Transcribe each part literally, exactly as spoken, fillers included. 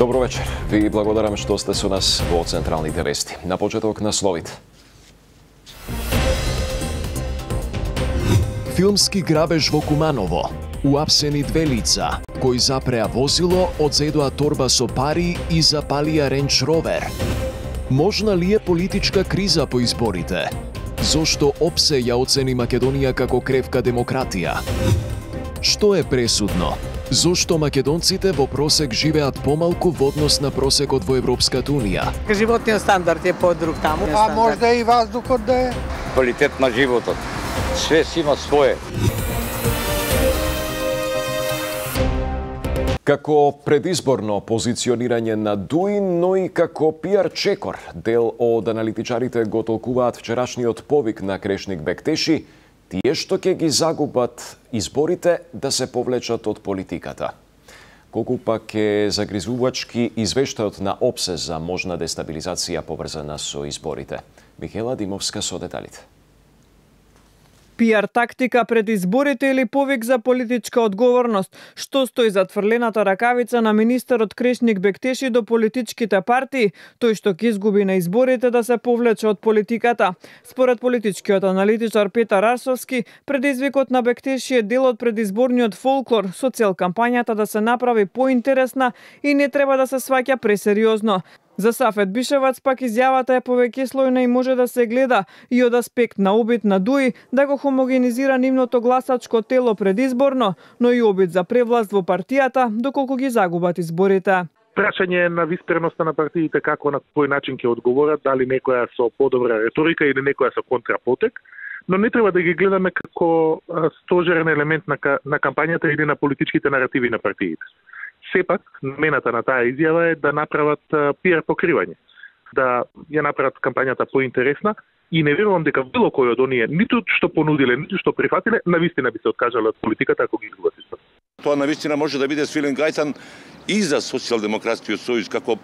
Добро вечер. Ви благодарам што сте со нас во Централните вести. На почеток насловите. Филмски грабеж во Куманово. Уапсени две лица, кои запреа возило, одзедоа торба со пари и запалија Рендж Ровер. Можна ли е политичка криза по изборите? Зошто ОПСЕ ја оцени Македонија како кревка демократија? Што е пресудно? Зошто македонците во просек живеат помалку во однос на просекот во Европската унија? Животниот стандард е подруг таму. А можда и воздухот да е? Квалитет на животот. Све си има свое. Како предизборно позиционирање на ДУИ, но и како пиар чекор, дел од аналитичарите го толкуваат вчерашниот повик на Крешник Бектеши, тие што ќе ги загубат изборите да се повлечат од политиката. Колку пак е загризувачки извештајот на ОПСЕ за можна дестабилизација поврзана со изборите. Михела Димовска со деталите. Пиар тактика пред изборите или повик за политичка одговорност? Што стои за тврлената ракавица на министерот Крешник Бектеши до политичките партии, тој што ќе изгуби на изборите да се повлече од политиката? Според политичкиот аналитичар Петар Арсовски, предизвикот на Бектеши е дел од предизборниот фолклор со цел кампањата да се направи поинтересна и не треба да се сваќа пресериозно. За Сафет Бишевац пак изјавата е повеќе слојна и може да се гледа и од аспект на обид на ДУИ да го хомогенизира нивното гласачко тело предизборно, но и обид за превласт во партијата доколку ги загубат изборите. Прашање на висперноста на партиите како на кој начин ќе одговорат, дали некоја со подобра реторика или некоја со контрапотек, но не треба да ги гледаме како стожерен елемент на, на кампањата или на политичките наративи на партиите. Сепак, намената на таа изјава е да направат пиар покривање, да ја направат кампањата поинтересна и не верувам дека било кој од оние, ниту што понудиле, ниту што прифатиле, навистина би се откажале од политиката ако ги изгубат избор. Тоа навистина може да биде свилен гајтан и за Социјалдемократскиот сојуз како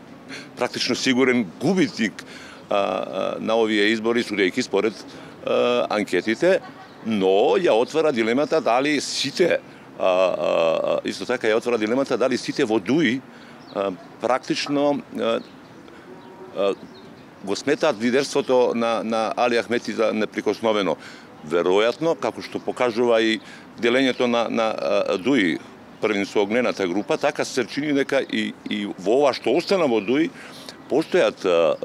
практично сигурен губитник а, а, на овие избори, судејќи според а, анкетите, но ја отвара дилемата дали сите А, а, исто така ја отвора дилемата дали сите во ДУИ а, практично а, а, го сметаат лидерството на, на Али Ахмети за неприкосновено. Веројатно, како што покажува и делењето на, на а, ДУИ, првин со огнената група, така се чини дека и, и во ова што остана во ДУИ постојат а,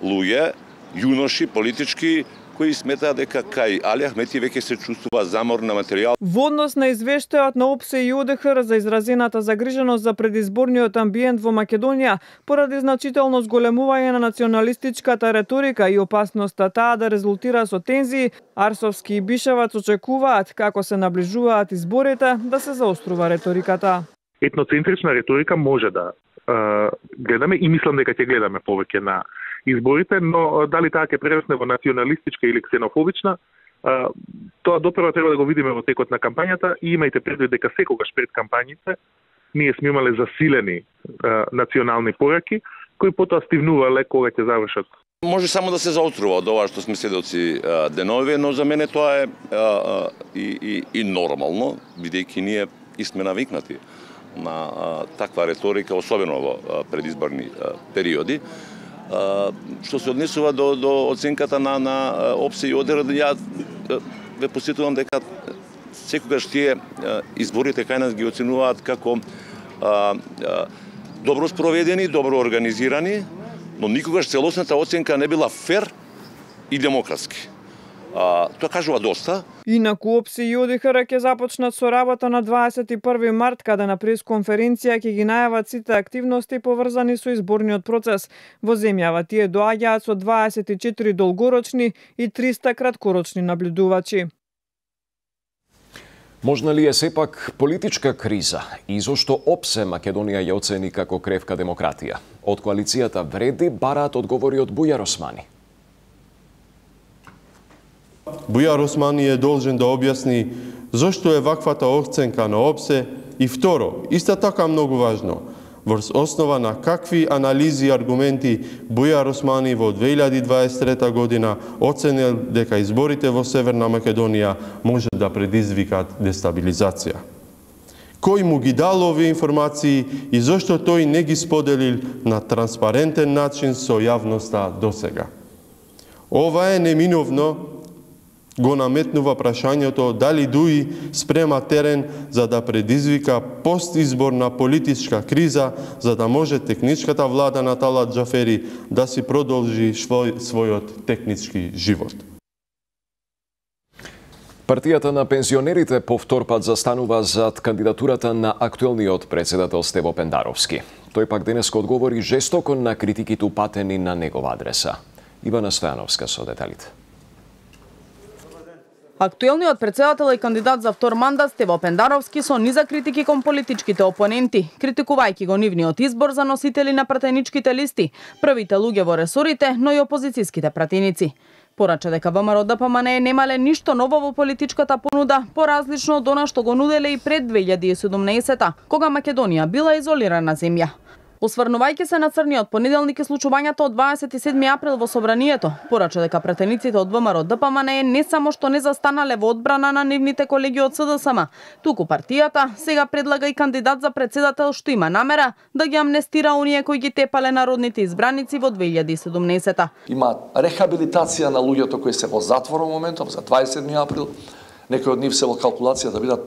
луѓе, јуноши, политички, кои сметаат дека кај Али Ахмети веќе се чувствува замор на материјал. Во однос на извештајот на ОПСЕ и ОДХР за изразената загриженост за предизборниот амбиент во Македонија поради значително зголемување на националистичката реторика и опасноста таа да резултира со тензии, Арсовски и Бишевац очекуваат како се наближуваат изборите да се заострува реториката. Етноцентрична реторика може да е, гледаме и мислам дека ќе гледаме повеќе на изборите, но дали таа ќе прерасне во националистичка или ксенофобична, тоа допрва треба да го видиме во текот на кампањата и имајте предвид дека секогаш пред кампањите ние сме имале засилени национални пораки кои потоа стивнувале кога ќе завршат. Може само да се заотрува од ова што сме сведоци денови, но за мене тоа е а, а, и, и, и нормално, бидејќи ние и сме навикнати на а, таква реторика, особено во а, предизборни а, периоди. Uh, што се однесува до, до оценката на, на ОПСЕ и ОДХР, ја ве посетувам дека секогаш тие uh, изборите кај нас ги оценуваат како uh, uh, добро спроведени, добро организирани, но никогаш целосната оценка не била фер и демократски. А, тоа кажува доста. Инаку ОПСЕ и ОДХР ќе започнат со работа на дваесет и први март, каде на пресконференција ќе ги најават сите активности поврзани со изборниот процес. Во земјава тие доаѓаат со дваесет и четири долгорочни и триста краткорочни наблюдувачи. Можна ли е сепак политичка криза и зошто ОПСЕ Македонија ја оцени како кревка демократија? Од коалицијата Вреди бараат одговори од Бујар Османи. Бујар Османи е должен да објасни зошто е ваквата оценка на ОПСЕ и второ, исто така многу важно, врз основа на какви анализи и аргументи Бујар Османи во две илјади дваесет и трета година оценил дека изборите во Северна Македонија може да предизвикат дестабилизација. Кој му ги дал овие информации и зошто тој не ги споделил на транспарентен начин со јавноста досега? Ова е неминовно го наметнува прашањето дали ДУИ спрема терен за да предизвика постизборна политичка криза, за да може техничката влада на Талат Џафери да си продолжи свој, својот технички живот. Партијата на пензионерите по втор пат застанува зад кандидатурата на актуелниот председател Стево Пендаровски. Тој пак денеска одговори жестоко на критиките упатени на негова адреса. Ивана Стојановска со деталите. Актуелниот председател и кандидат за втор мандат Стево Пендаровски со низа критики кон политичките опоненти, критикувајќи го нивниот избор за носители на пратеничките листи, првите луѓе во ресорите, но и опозицијските пратеници. Порача дека ВМРО ДПМН немале ништо ново во политичката понуда, поразлично од она што го нуделе и пред две илјади и седумнаесета, кога Македонија била изолирана земја. Осврнувајќи се на црниот понеделник и случувањето од дваесет и седми април во собранието, порача дека пратениците од ВМРО ДПМН не само што не застанале во одбрана на нивните колеги од СДСМ, туку партијата сега предлага и кандидат за председател што има намера да ги амнестира оние кои ги тепале народните избраници во две илјади и седумнаесета. Има рехабилитација на луѓето кои се во затвор во моментов за дваесет и седми април, некои од нив се во калкулација да бидат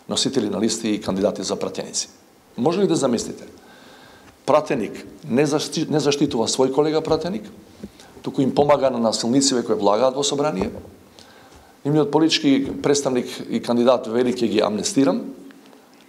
носители на листи и кандидати за пратеници. Може ли да замислите? Пратеник не, защи, не заштитува свој колега пратеник, туку им помага на насилниците кои влагаат во собрание. Нивниот политички представник и кандидат вели ќе ги амнестирам,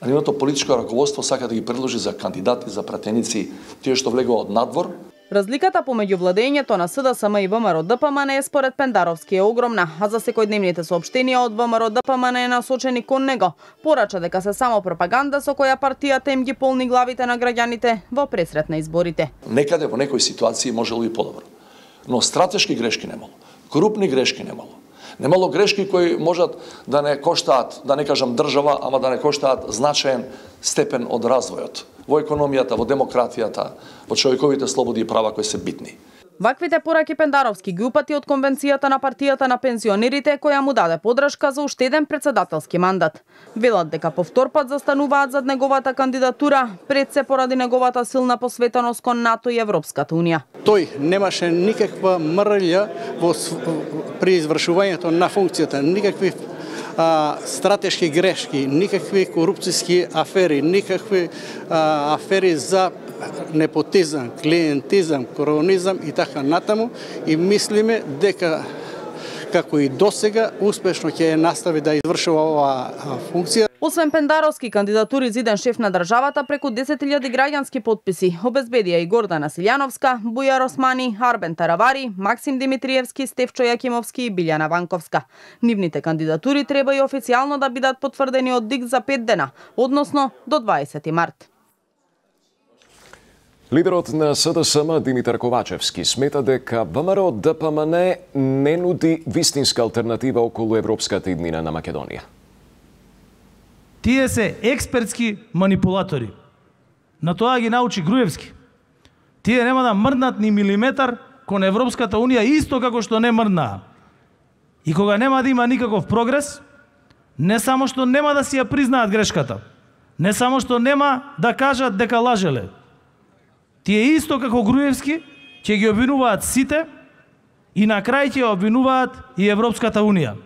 а нивното политичко раководство сака да ги предложи за кандидати за пратеници тие што влегува од надвор. Разликата помеѓу владењето на СДСМ и ВМРО ДПМН според Пендаровски е огромна, а за секојдневните соопштенија од ВМРО ДПМН е насочени кон него. Порача дека се само пропаганда со која партијата им ги полни главите на граѓаните во пресрет на изборите. Некаде во некои ситуации можело и подобро, но стратешки грешки немало, крупни грешки немало. Немало грешки кои можат да не коштаат, да не кажам држава, ама да не коштаат значаен степен од развојот во економијата, во демократијата, во човековите слободи и права кои се битни. Ваквите пораки Пендаровски ги упати од конвенцијата на партијата на пензионерите која му даде подршка за уште еден председателски мандат. Велат дека по втор пат застануваат зад неговата кандидатура, пред се поради неговата силна посветеност кон НАТО и Европската унија. Тој немаше никаква мрља во при извршувањето на функцијата, никакви а, стратешки грешки, никакви корупцијски афери, никакви а, афери за непотизам, клиентизам, коронизам и така натаму, и мислиме дека како и досега успешно ќе настави да извршува оваа функција. Освен Пендаровски кандидатури за иден шеф на државата, преку десет илјади граѓански потписи обезбедија и Гордана Силјановска, Бујар Османи, Арбен Таравари, Максим Димитриевски, Стефчо Јакимовски и Билјана Ванковска. Нивните кандидатури треба и официјално да бидат потврдени од ДИК за пет дена, односно до дваесети март. Лидерот на СДСМ Димитар Ковачевски смета дека ВМРО ДПМН не нуди вистинска алтернатива околу европската иднина на Македонија. Тие се експертски манипулатори. На тоа ги научи Груевски. Тие нема да мрднат ни милиметар кон Европската унија, исто како што не мрднаа. И кога нема да има никаков прогрес, не само што нема да си ја признаат грешката, не само што нема да кажат дека лажеле, тие исто како Груевски ќе ги обвинуваат сите и на крај ќе обвинуваат и Европската унија.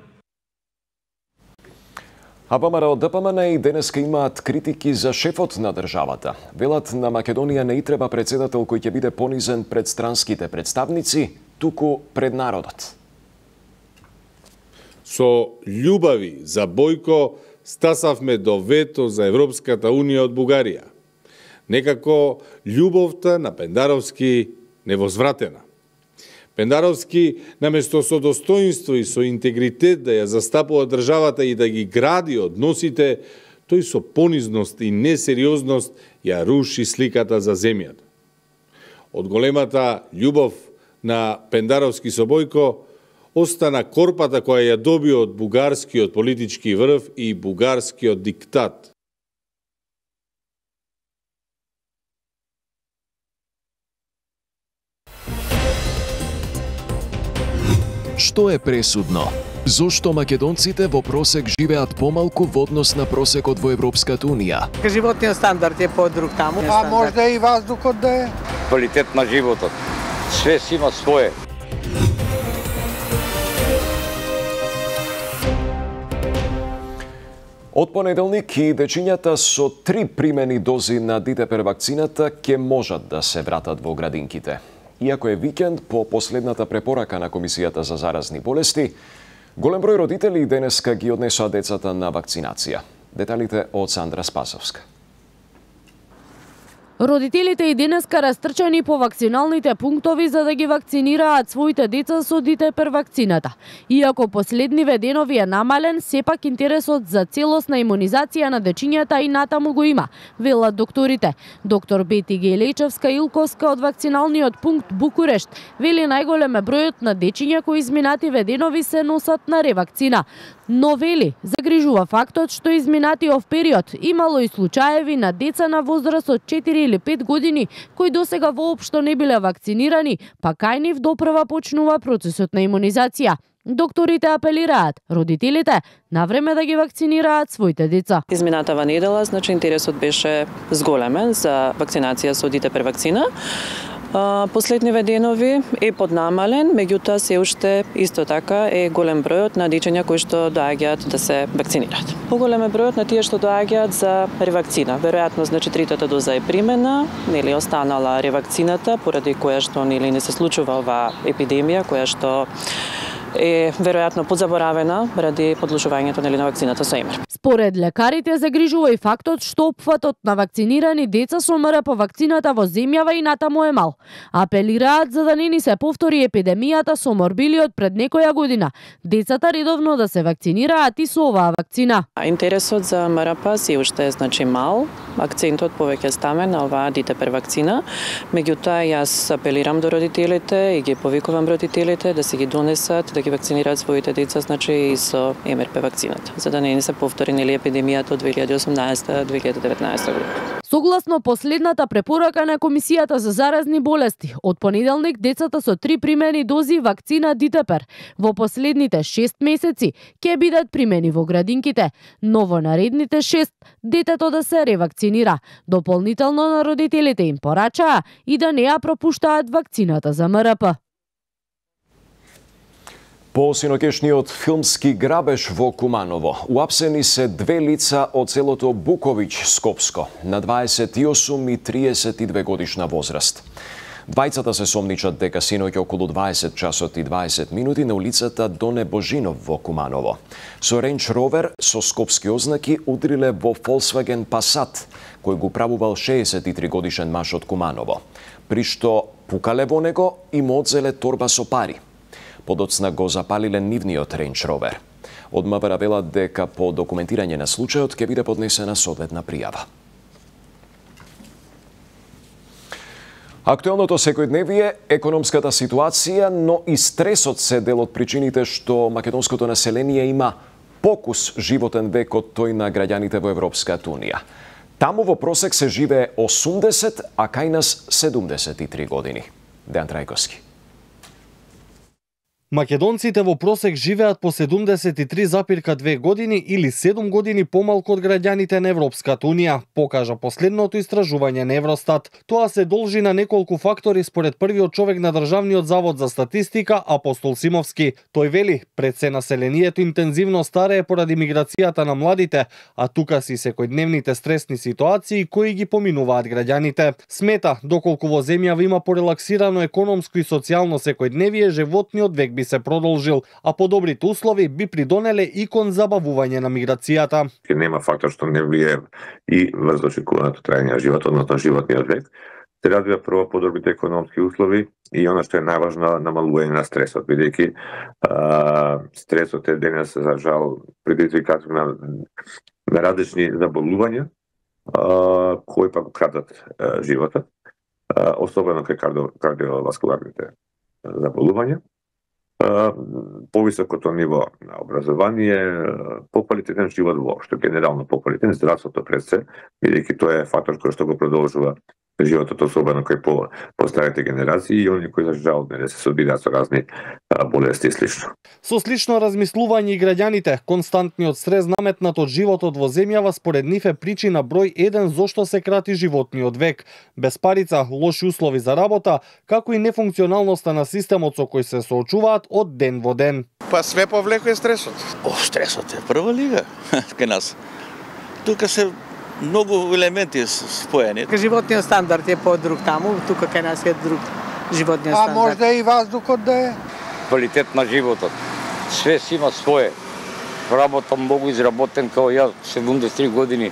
А ВМРО ДПМН и денеска имаат критики за шефот на државата. Велат на Македонија не и треба председател кој ќе биде понизен пред странските представници, туку пред народот. Со љубави за Бојко стасавме до вето за Европската унија од Бугарија. Некако љубовта на Пендаровски невозвратена. Пендаровски, наместо со достоинство и со интегритет да ја застапува државата и да ги гради односите, тој со понизност и несериозност ја руши сликата за земјата. Од големата љубов на Пендаровски со Бојко остана корпата која ја доби од бугарскиот политички врв и бугарскиот диктат. Што е пресудно? Зошто македонците во просек живеат помалку во однос на просекот во Европската унија? Животниот стандард е подруг таму. А можда и воздухот да е? Квалитет на животот. Све си има свое. Од понеделник и дечињата со три примени дози на Дитепер вакцината ќе можат да се вратат во градинките. Иако е викенд по последната препорака на Комисијата за заразни болести, голем број родители денеска ги однесоа децата на вакцинација. Деталите од Сандра Спасовска. Родителите и денеска растрчани по вакциналните пунктови за да ги вакцинираат своите деца со Дитепер вакцината. Иако последниве денови е намален, сепак интересот за целосна имунизација на дечињата и натаму го има, велат докторите. Доктор Бети Гелечевска-Илковска од вакциналниот пункт Букурешт вели најголем е бројот на дечиња кои изминативе денови се носат на ревакцина. Но вели, загрижува фактот што изминатиот период имало и случаеви на деца на возраст од четири или пет години кои досега воопшто не биле вакцинирани, па кај нив допрва почнува процесот на имунизација. Докторите апелираат родителите навреме да ги вакцинираат своите деца. Изминатава недела, значи интересот беше зголемен за вакцинација со Дитепер вакцина. Последниве денови е поднамален, меѓутоа се уште исто така е голем бројот на дечиња кои што доаѓаат да се вакцинираат. Поголем е бројот на тие што доаѓаат за ревакцина. Веројатно, значи третата доза е примена, нели останала ревакцината поради која што нели не се случува оваа епидемија која што е веројатно подзаборавена ради подложувањето нели на вакцината со ЕМР. Според лекарите загрижува и фактот што опфатот на вакцинирани деца со МРП вакцината во земјава и натаму е мал. Апелираат за да не ни се повтори епидемијата со морбилиот пред некоја година. Децата редовно да се вакцинираат и со оваа вакцина. Интересот за МРП се уште е значи мал. Акцентот повеќе ставен на оваа Дитепер вакцина. Меѓутоа јас апелирам до родителите и ги повикувам родителите да се ги донесат да ги вакцинираат своите деца, значи и со ЕМРП вакцината, за да не ни се повтори нели епидемијата од две илјади и осумнаесета - две илјади и деветнаесета година. Согласно последната препорака на Комисијата за заразни болести, од понеделник децата со три примени дози вакцина Дитепер во последните шест месеци ќе бидат примени во градинките, но во наредните шест детето да се ревакцинира. Дополнително на родителите им порачаа и да не ја пропуштаат вакцината за МРП. По синокешниот филмски грабеж во Куманово, уапсени се две лица од селото Буковиќ, Скопско, на дваесет и осум и триесет и две годишна возраст. Двајцата се сомничат дека синоќа околу дваесет часот и дваесет минути на улицата Доне Божинов во Куманово. Со Рендж Ровер со скопски ознаки удриле во Volkswagen Passat, кој го правувал шеесет и три годишен маж од Куманово, при што пукале во него и му одзеле торба со пари. Подоцна го запалиле нивниот Рендж Ровер. Од МВР велат дека по документирање на случајот ќе биде поднесена соодветна пријава. Актуелното секојдневие, економската ситуација, но и стресот се дел од причините што македонското население има покус животен век од тој на граѓаните во Европската унија. Таму во просек се живее осумдесет, а кај нас седумдесет и три години. Дејан Трајковски. Македонците во просек живеат по седумдесет и три запирка две години или седум години помалку од граѓаните на Европската унија, покажа последното истражување на Евростат. Тоа се должи на неколку фактори според првиот човек на Државниот завод за статистика Апостол Симовски. Тој вели, пред се населението интензивно старее поради миграцијата на младите, а тука си секојдневните стресни ситуации кои ги поминуваат граѓаните. Смета, доколку во земјава има порелаксирано економско и социјално секојдневие, животниот век би се продолжил, а подобрите услови би придонеле и кон забавување на миграцијата. Нема фактор што не влијае и врз очекуваното трајање на животот, односно животниот век. Се развива прво подобрите економски услови и она што е најважно, намалување на стресот, бидејќи стресот е денес за жал предизвикатор на, на различни заболувања а, кои пак крадат а, животот, а, особено кај кардио, кардиоваскуларните заболувања. Повисокото ниво на образование, поквалитетен живот воопшто, генерално поквалитетен, здравството пред се, бидејќи тоа е фактор кој што го продолжува животот, особено кој по постарите генерации и оние кои за жал не се соодбираат со разни болести и слично. Со слично размислување и граѓаните, константниот стрес наметнат од животот во земјава според нив е причина број еден зошто се крати животниот век. Без парица, лоши услови за работа, како и нефункционалноста на системот со кој се соочуваат од ден во ден. Па све повлекува стресот. О, стресот е прва лига кај нас. Тука се многу елементи споени. Животниот стандард е по-друг таму, тука кај нас е друг животниот стандард. А може и воздухот да е? Квалитет на животот. Све си има свое. Работам многу изработен као ја, седумдесет и три години.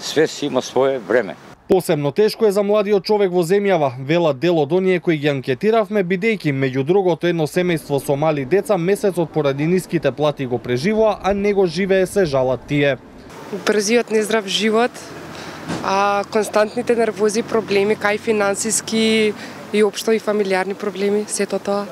Све си има свое време. Посебно тешко е за младиот човек во земјава, велат дел од оние кои ги анкетиравме, бидејќи меѓу другото едно семејство со мали деца месецот поради ниските плати го преживува, а него живее се жалат тие. Брзиот нездрав живот, а константните нервози проблеми, кај финансиски и општо и фамилиарни проблеми, сето тоа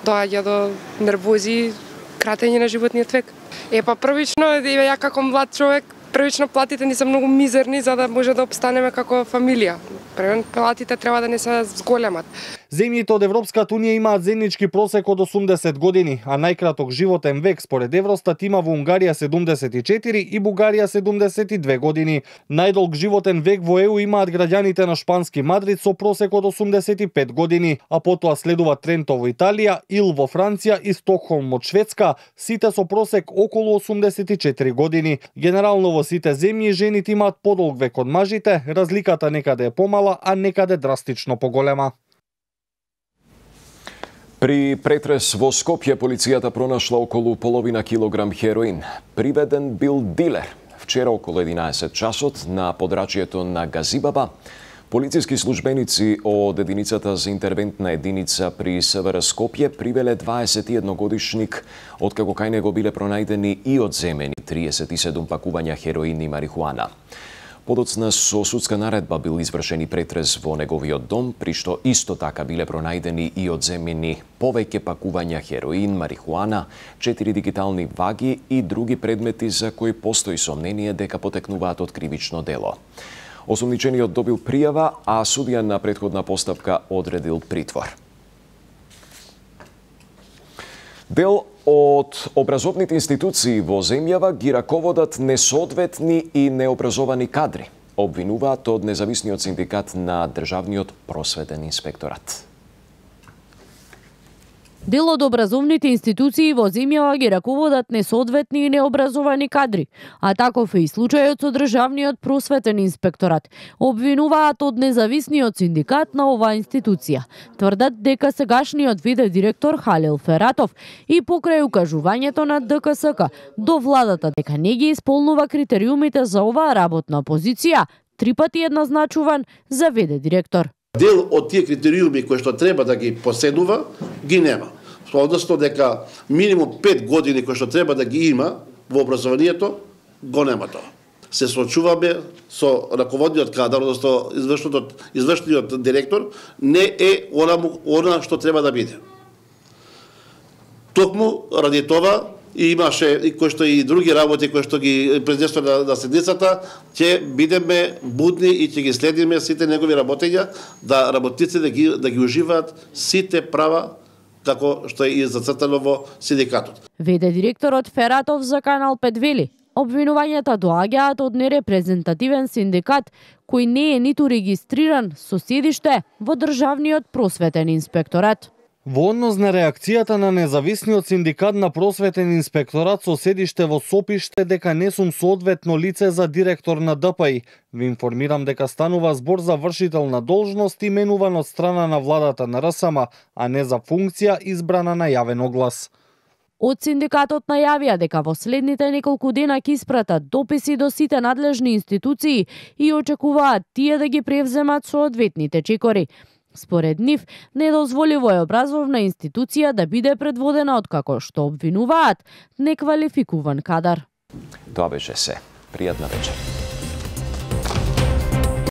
доаѓа до нервози, кратење на животниот век. Е па првично, ја како млад човек, првично платите ни се многу мизерни за да може да обстанеме како фамилија. Првен платите треба да не се зголемат. Земјите од Европската унија имаат заеднички просек од осумдесет години, а најкраток животен век според Евростат има во Унгарија седумдесет и четири и Бугарија седумдесет и две години. Најдолг животен век во Е У имаат граѓаните на шпански Мадрид со просек од осумдесет и пет години, а потоа следува Тренто во Италија, Ил во Франција и Стокхолм од Шведска, сите со просек околу осумдесет и четири години. Генерално во сите земји жените имаат подолг век од мажите, разликата некаде е помала, а некаде драстично поголема. При претрес во Скопје полицијата пронашла околу половина килограм хероин. Приведен бил дилер. Вчера околу единаесет часот на подрачјето на Газибаба, полициски службеници од единицата за интервентна единица при С В Р Скопје привеле дваесет и едногодишник, откако кај него биле пронајдени и одземени триесет и седум пакувања хероин и марихуана. Подоцна со судска наредба бил извршен и претрес во неговиот дом, при што исто така биле пронајдени и одземени повеќе пакувања хероин, марихуана, четири дигитални ваги и други предмети за кои постои сомнение дека потекнуваат од кривично дело. Осумничениот добил пријава, а судија на претходна постапка одредил притвор. Дел од образовните институции во земјава ги раководат несоодветни и необразовани кадри, обвинуваат од независниот синдикат на Државниот просветен инспекторат. Дел од образовните институции во земјава ги раководат несоодветни и необразовани кадри, а таков е и случајот со Државниот просветен инспекторат. Обвинуваат од независниот синдикат на оваа институција. Тврдат дека сегашниот виде директор Халил Фератов и покрај укажувањето на Д К С К до владата дека не ги исполнува критериумите за оваа работна позиција, три пати еднозначуван за виде директор. Дел од тие критериуми кои што треба да ги поседува, ги нема. Односно дека минимум пет години кои што треба да ги има во образованието, го нема тоа. Се соочуваме со раководниот кадар, односно извршниот, извршниот директор, не е она, она што треба да биде. Токму ради тоа и имаше и кои што и други работи кои што ги презесува на, на седницата, ќе бидеме будни и ќе ги следиме сите негови работења, да работниците да ги, да ги уживаат сите права како што е и зацртано во синдикатот. Веде директорот Фератов за Канал пет вели, обвинувањата доаѓаат од нерепрезентативен синдикат кој не е ниту регистриран со седиште во Државниот просветен инспекторат. Во однос на реакцијата на независниот синдикат на просветен инспекторат со седиште во Сопиште дека не сум соодветно лице за директор на Д П И, ви информирам дека станува збор за вршител на должност именуван од страна на владата на Р С М, а не за функција избрана на јавен оглас. Од синдикатот најавија дека во следните неколку дена ќе испратат дописи до сите надлежни институции и очекуваат тие да ги превземат соодветните чекори. Според нив, недозволиво е образовна институција да биде предводена од како што обвинуваат неквалификуван кадар. Тоа беше се. Пријатна вечер.